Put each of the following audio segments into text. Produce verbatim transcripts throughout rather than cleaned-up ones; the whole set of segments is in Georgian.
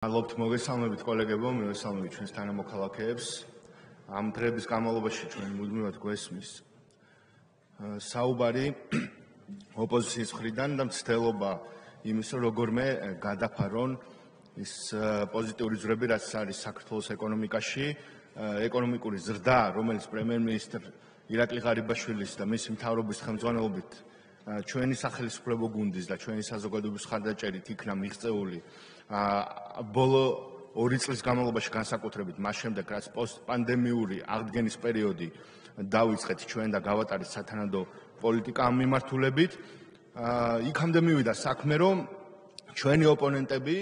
მადლობთ მოგესალმებით კოლეგებო, მივესალმებით ჩვენს თანამოქალაქეებს. ამ დღეების განმავლობაში ჩვენ მუდმივად გვესმის საუბარი ოპოზიციის მხრიდან და მცდელობა იმის, რომ როგორმე გადაფარონ ის პოზიტიური ძვრები, რაც არის საქართველოს ეკონომიკაში, ეკონომიკური ზრდა, რომელიც პრემიერ-მინისტრ ირაკლი ღარიბაშვილის და მისი მთავრობის ხელმძღვანელობით ჩვენი სახელმწიფო გუნდის და ჩვენი საზოგადოების ხარდაჭერით იქნა მიღწეული ბოლო ორი წლის განმავლობაში განსაკუთრებით მას შემდეგ, რაც პოსტპანდემიური აღდგენის პერიოდი დავიწყეთ ჩვენ და გავატარეთ სათანადო პოლიტიკა ამ მიმართულებით, იქამდე მივიდა საქმე, რომ ჩვენი ოპონენტები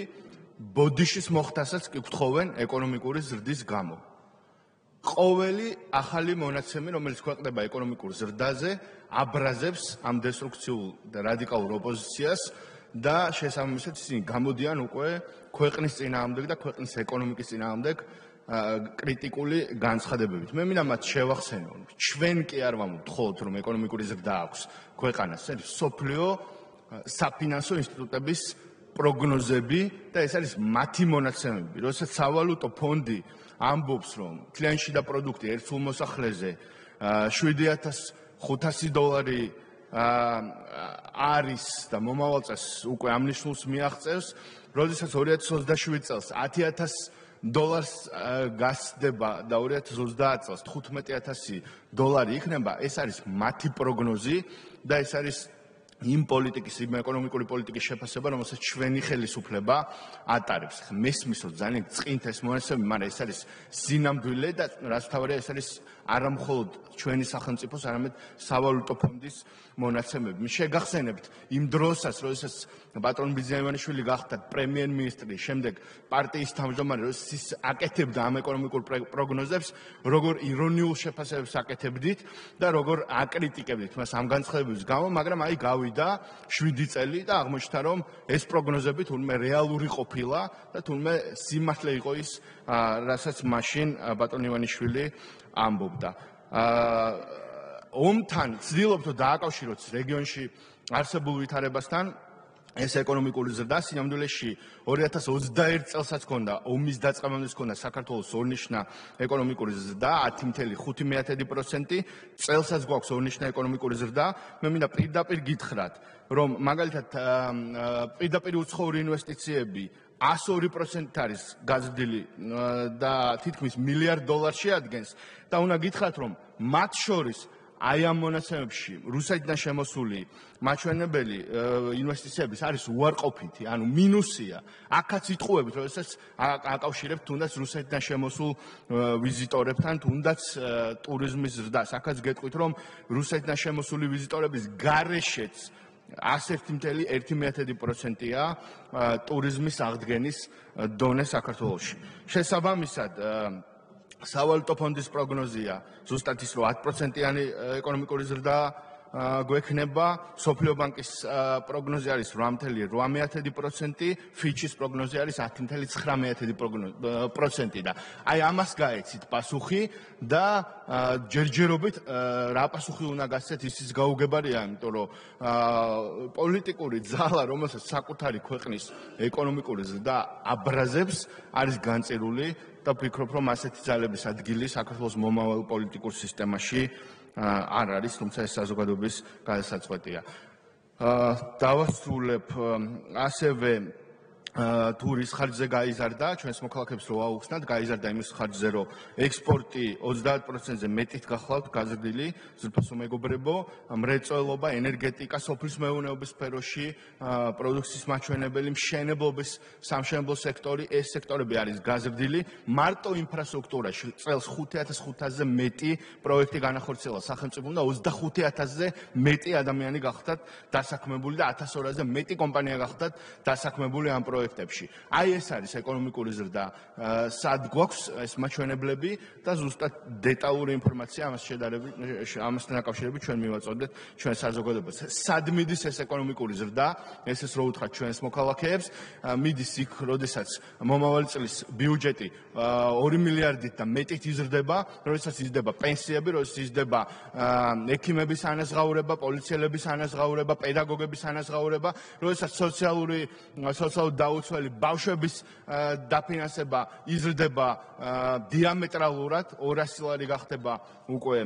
ბოდიშის მოხდასაც კი გთხოვენ ეკონომიკური ზრდის გამო. ყოველი ახალი მონაცემი, რომელიც ქვეყნდება ეკონომიკურ ზრდაზე, აბრაზებს ამ დესტრუქციულ და რადიკალურ ოპოზიციას და შესაბამისად ისინი გამოდიან უკვე ქვეყნის წინააღმდეგ და ქვეყნის ეკონომიკის წინააღმდეგ კრიტიკული განცხადებებით. მე მინდა მათ შევახსენო, ჩვენ კი არ ვამბობთ, რომ ეკონომიკური ზრდა აქვს ქვეყანას, ეს სოფლიო საფინანსო ინსტიტუტების პროგნოზები და ეს არის მათი მონაცემები. როდესაც სავალუტო ფონდი ამბობს, რომ თლიანი შიდა პროდუქტი ერთ სულ მოსახლეზე შვიდი ათას ხუთასი დოლარი არის და მომავალ წელს უკვე ამ ნიშნულს მიაღწევს, როდესაც ორი ათას ოცდაშვიდ წელს ათი ათას დოლარს გასდება და ორი ათას ოცდაათ წელს თხუთმეტი ათასი დოლარი იქნება, ეს არის მათი პროგნოზი და ეს არის იმ პოლიტიკის, იმ ეკონომიკური პოლიტიკის შეფასება, რომელსაც ჩვენი ხელისუფლება ატარებს. მესმის, რომ ძალიან წყინთ ეს მონაცემები, მაგრამ ეს არის სინამდვილე და რაც თავარია, ეს არის არა მხოლოდ ჩვენი სახელმწიფოს, არამედ სავალუტო ფონდის მონაცემები. შეგახსენებთ იმ დროსაც, როდესაც პატრონ ბიზნაევანიშვილი გახდა პრემიერ-მინისტრი, შემდეგ პარტიის თავმჯდომარე, როდესაც ის აკეთებდა ამ ეკონომიკურ პროგნოზებს, როგორ ირონიულ შეფასებებს აკეთებდით და როგორ აკრიტიკებდით მას ამ განცხადებების გამო, მაგრამ აი გავიდა შვიდი წელი და აღმოჩნდა, რომ ეს პროგნოზები თურმე რეალური ყოფილა და თურმე სიმართლე იყო ის, რასაც მაშინ პატრონ ივანიშვილი ამბობდა. ომთან ცდილობთ დააკავშიროთ რეგიონში არსებულ ვითარებასთან ეს ეკონომიკური ზრდა სინამდვილეში ორი ათას ოცდაერთ წელსაც ჰქონდა ომის დაწყებამდე ჰქონდა საქართველოს ორნიშნა ეკონომიკური ზრდა ათი ათეული პროცენტი, წელსაც გვაქვს ორნიშნა ეკონომიკური ზრდა. მე მინდა პირდაპირ გითხრათ, რომ მაგალითად პირდაპირ უცხოური ინვესტიციები εκατს ორი პროცენტით არის გაზრდილი და თითქმის მილიარდ დოლარს შეადგენს და უნდა გითხრათ, რომ მათ შორის აი ამ მონაცემებში რუსეთიდან შემოსული მაჩვენებელი ინვესტიციების არის უარყოფითი, ანუ მინუსია. აქაც იტყუებით, როდესაც აკავშირებთ თუნდაც რუსეთიდან შემოსულ ვიზიტორებთან, თუნდაც ტურიზმის ზრდას. აქაც გეტყვით, რომ რუსეთიდან შემოსული ვიზიტორების გარეშეც ასეთი ათი ათეული პროცენტია ტურიზმის აღდგენის დონე საქართველოში. შესაბამისად, სავალუტო ფონდის პროგნოზია ზუსტად ის, რომ ათი პროცენტიანი ეკონომიკური ზრდა გვექნება, სოფლიო ბანკის პროგნოზი არის რვა ათეული პროცენტი, ფიჩის პროგნოზი არის ათი ცხრამეტი პროცენტი და აი ამას გაეცით პასუხი და ჯერჯერობით რა პასუხი უნდა გასცეთ, ისიც გაუგებარია, იმიტომ რომ პოლიტიკური ძალა, რომელსაც საკუთარი ქვეყნის ეკონომიკური ზრდა აბრაზებს, არის განწირული და ვფიქრობ, რომ ასეთი ძალების ადგილი საქართველოს მომავალ პოლიტიკურ სისტემაში არ არის, თუმცა ეს საზოგადოების გადასაწყვეტია. დავასრულებ ასევე თუ რის ხარჯზე გაიზარდა, ჩვენს მოქალაქეებს რო აუხსნათ, გაიზარდა იმის ხარჯზე, რომ ექსპორტი ოცდაათ პროცენტზე მეტით გახლავთ გაზრდილი, ზრფასო მეგობრებო, მრეწველობა, ენერგეტიკა, სოფლის მეურნეობის სფეროში, პროდუქციის მაჩვენებელი, მშენებლობის, სამშენებლო სექტორი, ეს სექტორები არის გაზრდილი. მარტო ინფრასტრუქტურაში წელს ხუთი ათას ხუთასზე მეტი პროექტი განახორციელა სახელმწიფომ და ოცდახუთი ათასზე მეტი ადამიანი გახდათ დასაქმებული და ათას ორასზე მეტი კომპანია გახდათ დასაქმებული ამ პროექტებში. აი ეს არის ეკონომიკური ზრდა, სად გვაქვს ეს მაჩვენებლები და ზუსტად დეტალური ინფორმაცია ამას შედარებით, ამასთან დაკავშირებით ჩვენ მივაწოდეთ ჩვენ საზოგადოებას. სად მიდის ეს ეკონომიკური ზრდა, ესეც რო უთხრათ ჩვენს მოქალაქეებს, მიდის იქ, როდესაც მომავალი წლის ბიუჯეტი ორი მილიარდით და მეტით იზრდება, როდესაც იზრდება პენსიები, როდესაც იზრდება ექიმების ანაზღაურება, პოლიციელების ანაზღაურება, პედაგოგების ანაზღაურება, როდესაც სოციალური სოციალური გაუცველი ბავშვების დაფინანსება იზრდება დიამეტრალურად, ორასი ლარი გახდება უკვე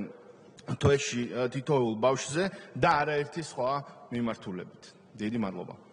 თვეში თითოეულ ბავშვზე და არაერთი სხვა მიმართულებით. დიდი მადლობა.